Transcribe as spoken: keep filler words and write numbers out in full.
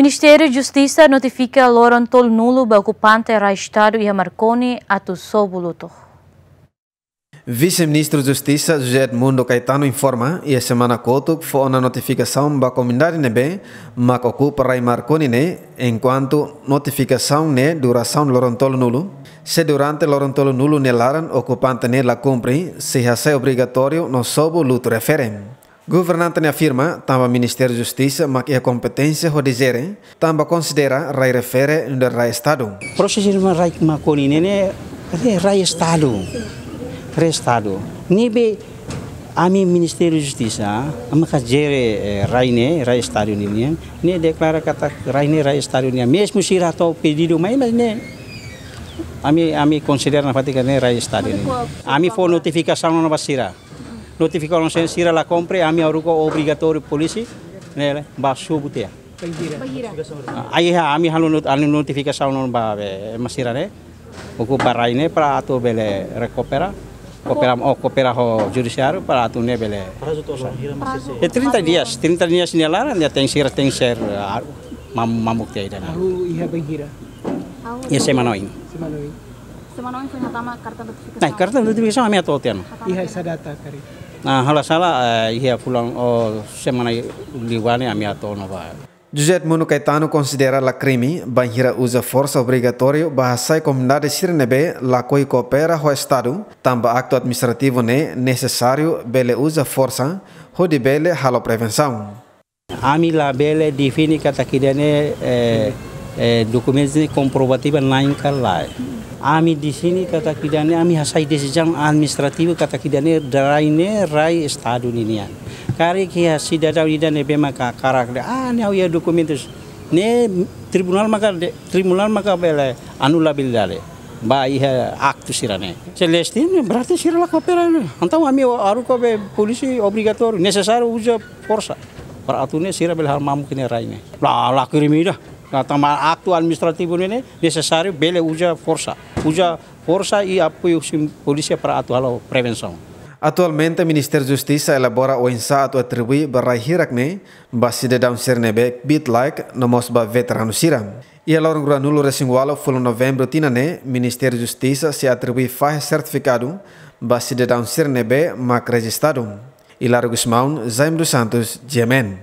Ministériu Justisa notifika loron tolunulu ba okupante rai Estadu iha Marconi atu sobu lutu. Vise-Ministru Justisa José Edmundo Caetano informa, iha semana kotuk fó ona notifikasaun ba komunidade ne'ebé mak okupa rai Marconi ne'e, enkuantu notifikasaun ne'e durasaun loron tolunulu. Se durante loron tolunulu nia laran okupante ne'e la kumpre, sei hasai obrigatóriu no sobu lutu refere. Governante ne'e afirma, tanba Ministériu Justisa mak iha kompeténsia hodi jere, tanba konsidera rai refere nu'udar rai Estadu. Prosesu rai Marconi ne'e, ne'e rai Estadu. Rai Estadu. Ne'ebé ami Ministériu Justisa, ami ka jere, eh, rai ne'e, rai Estadu ninian, ne'e deklara katak rai ne'e rai Estadu nian. Mezmu sira hato'o pedidu mai, mas ne'e ami, ami konsidera nafatin katak ne'e rai Estadu nian. Ami fó notifikasaun ona ba sira. Notifikasaun sira la kumpre, ami haruka obrigatóriu polísia ne'e ba sobu tiha. Bainhira? Ah, iha, ami halo not-, halo notifikasaun ona ba, be, ema sira ne'e okupa rai ne'e para atu bele rekupera. Kopera, oh, kopera ho judisiáriu para atu ne'e bele. Prazu to'o bainhira? Prazu. Eh, trinta dias, trinta dias nia laran, nia tenke, sira tenke ser, ah, mam-, mamuk tiha ida-ne'e. Hahú iha bainhira? Iha semana oin. Semana oin. Semana oin foin hatama karta notifikasaun? Nah, karta notifikasaun ami hato'o tiha ona. Iha sá data karik? Nah, halo sala, eh, iha fulan, oh, semana liubá ne'e ami hato'o ona ba. José Edmundo Caetano konsidera la krime bainhira uza forsa obrigatóriu ba hasai komunidade sira ne'ebé lakohi koopera ho Estadu, tanba aktu administrativu ne'e nesesáriu bele uza forsa hodi bele halo prevensaun. Ami labele define katak ida-ne'e, eh, eh, dokumentu ne'e komprovativa na'in ka lae. Ami define katak ida-ne'e, ami hasai desizaun administrativu katak ida-ne'e rai ne'e rai Estadu ninian. Karik iha sidadaun ida ne'ebé maka hakarak dehan, ah, ne'e ha'u iha dokumentus. Ne'e tribunál maka de-, tribunál maka bele anulabilidade ba iha aktu sira-ne'e. Se leste ne'e berarti sira la koopera ne'e. Entaun ami haruka be polísia obrigatóriu, nesesáriu uza forsa para atu ne'e sira bele halo mamuk iha rai ne'e. La, la krime ida. Nah, tanba aktu administrativu ne'e, ne'e nesesáriu bele uza forsa. Uza forsa i apoiu husi polísia para atu halo prevensaun. Atualmente, Ministériu Justisa elabora oinsá atu atribui ba rai hirak ne'e ba sidadaun sira ne'ebé kbiit-laek no mós ba veteranu sira. Iha loron ruanulu-resin-ualu fulan Novembru tinan ne'e, Ministériu Justisa sei atribui fahe sertifikadu ba sidadaun sira ne'ebé mak rejistadu. Hilário Gusmão, Jaime dos Santos, G M N.